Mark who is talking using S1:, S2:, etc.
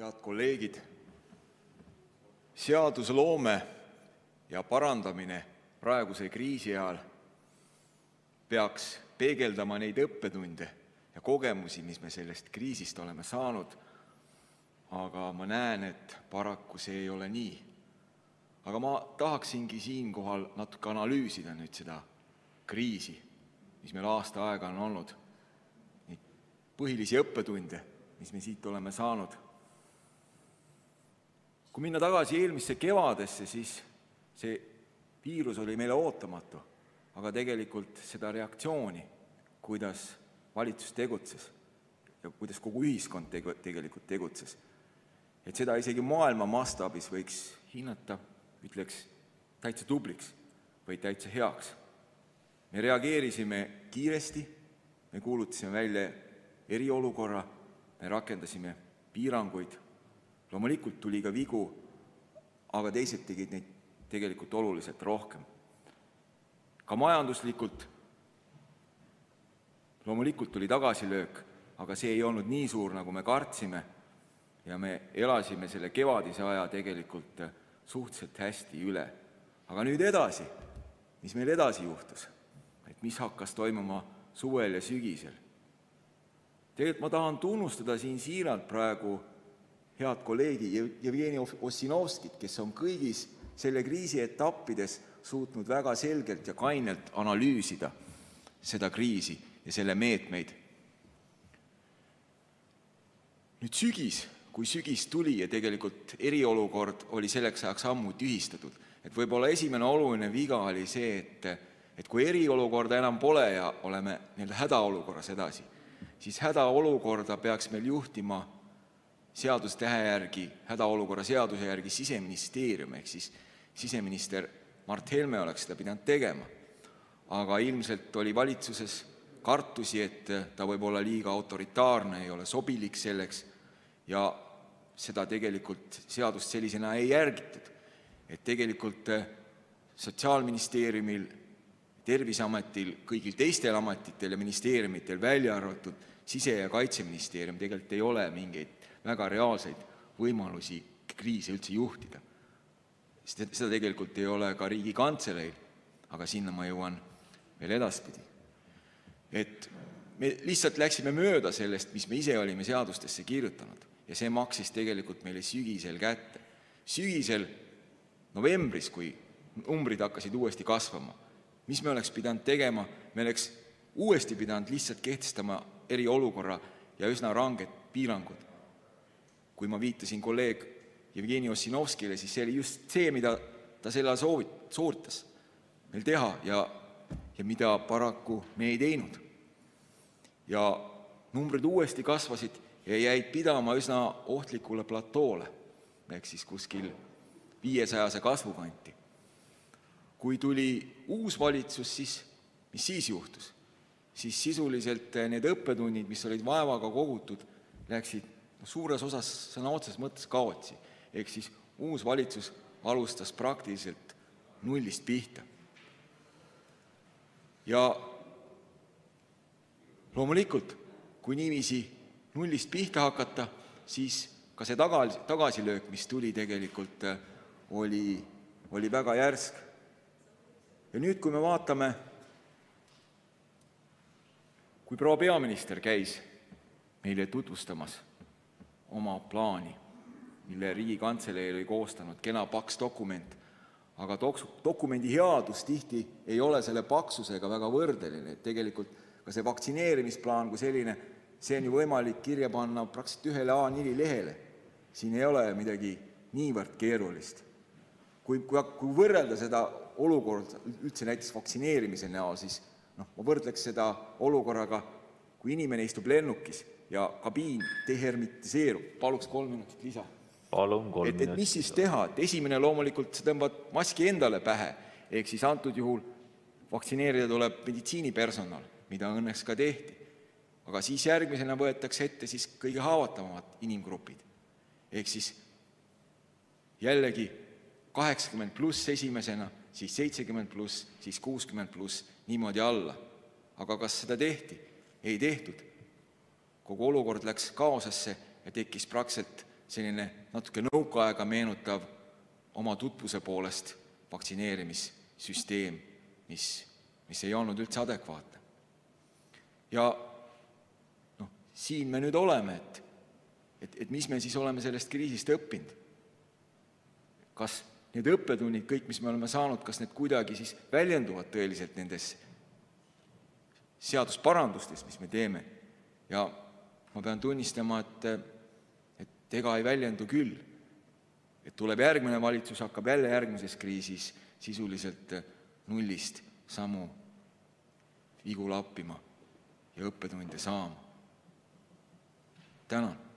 S1: Head kolleegid, seadusloome ja parandamine praeguse kriisi ajal peaks peegeldama neid õppetunde ja kogemusi, mis me sellest kriisist oleme saanud, aga ma näen, et paraku see ei ole nii. Aga ma tahaksingi siinkohal natuke analüüsida nüüd seda kriisi, mis meil aasta aega on olnud, neid põhilisi õppetunde, mis me siit oleme saanud. Kui minna tagasi eelmisse kevadesse, siis see viirus oli meile ootamatu, aga tegelikult seda reaktsiooni, kuidas valitsus tegutses ja kuidas kogu ühiskond tegelikult tegutses, et seda isegi maailma mastaabis võiks hinnata, ütleks, täitsa tubliks või täitsa heaks. Me reageerisime kiiresti, me kuulutasime välja eriolukorra, me rakendasime piiranguid. Loomulikult tuli ka vigu, aga teised tegid neid tegelikult oluliselt rohkem. Ka majanduslikult loomulikult tuli tagasilöök, aga see ei olnud nii suur, nagu me kartsime, ja me elasime selle kevadise aja tegelikult suhteliselt hästi üle. Aga nüüd edasi, mis meil edasi juhtus? Et mis hakkas toimuma suvel ja sügisel? Tegelikult ma tahan tunnustada siin siiralt praegu head kolleegi Jevgeni Ossinovskit, kes on kõigis selle kriisi etappides suutnud väga selgelt ja kainelt analüüsida seda kriisi ja selle meetmeid. Nüüd sügis, kui sügis tuli ja tegelikult eriolukord oli selleks ajaks ammu tühistatud, et võib-olla esimene oluline viga oli see, et kui eriolukorda enam pole ja oleme hädaolukorras edasi, siis hädaolukorda peaks meil juhtima seadustähe järgi, hädaolukorra seaduse järgi Siseministeerium, ehk siis siseminister Mart Helme oleks seda pidanud tegema. Aga ilmselt oli valitsuses kartusi, et ta võib olla liiga autoritaarne, ei ole sobilik selleks ja seda tegelikult seadust sellisena ei järgitud. Et tegelikult Sotsiaalministeeriumil, Terviseametil, kõigil teistel ametitel ja ministeeriumitel välja arvatud Sise- ja Kaitseministeerium tegelikult ei ole mingeid väga reaalseid võimalusi kriise üldse juhtida. Seda tegelikult ei ole ka Riigikantseleil, aga sinna ma jõuan veel edaspidi. Et me lihtsalt läksime mööda sellest, mis me ise olime seadustesse kirjutanud ja see maksis tegelikult meile sügisel kätte. Sügisel, novembris, kui numbrid hakkasid uuesti kasvama, mis me oleks pidanud tegema? Me oleks uuesti pidanud lihtsalt kehtestama eriolukorra ja üsna ranged piirangud. Kui ma viitasin kolleeg Jevgeni Ossinovskile, siis see oli just see, mida ta selle sooritas meil teha ja mida paraku me ei teinud. Ja numbrid uuesti kasvasid ja jäid pidama üsna ohtlikule platoole, ehk siis kuskil 500 kasvukanti. Kui tuli uus valitsus, siis mis siis juhtus? Siis sisuliselt need õppetunnid, mis olid vaevaga kogutud, läksid suures osas sõna otseses mõttes kaotsi. Ehk siis uus valitsus alustas praktiliselt nullist pihta. Ja loomulikult, kui niiviisi nullist pihta hakata, siis ka see tagasilöök, mis tuli tegelikult, oli väga järsk. Ja nüüd, kui me vaatame, kui proua peaminister käis meile tutvustamas oma plaani, mille Riigikantselei oli koostanud, kena paks dokument, aga dokumendi headus tihti ei ole selle paksusega väga võrdeline, et tegelikult ka see vaktsineerimisplaan kui selline, see on ju võimalik kirja panna praktiliselt ühele A4 lehele. Siin ei ole midagi niivõrd keerulist. Kui võrrelda seda olukorda üldse näiteks vaktsineerimise näol, siis ma võrdleks seda olukorraga, kui inimene istub lennukis ja kabiin dehermitiseerub. Paluks 3 minutit lisa.
S2: Palun 3 minutit.
S1: Et mis siis teha? Et esimene loomulikult sa tõmbad maski endale pähe, ehk siis antud juhul vaktsineerida tuleb meditsiinipersonal, mida õnneks ka tehti. Aga siis järgmisena võetakse ette siis kõige haavatavamad inimgrupid. Ehk siis jällegi 80+ esimesena, siis 70+, siis 60+, niimoodi alla. Aga kas seda tehti? Ei tehtud. Kogu olukord läks kaosesse ja tekkis praktiliselt selline natuke nõukaaega meenutav oma tutvuse poolest vaktsineerimissüsteem, mis ei olnud üldse adekvaatne. Ja siin me nüüd oleme, et mis me siis oleme sellest kriisist õppinud. Kas need õppetunnid, kõik, mis me oleme saanud, kas need kuidagi siis väljenduvad tõeliselt nendes seadusparandustes, mis me teeme? Ja ma pean tunnistama, et ega ei väljendu küll. Et tuleb järgmine valitsus, hakkab jälle järgmises kriisis sisuliselt nullist samu vigu lappima ja õppetunde saama. Tänan.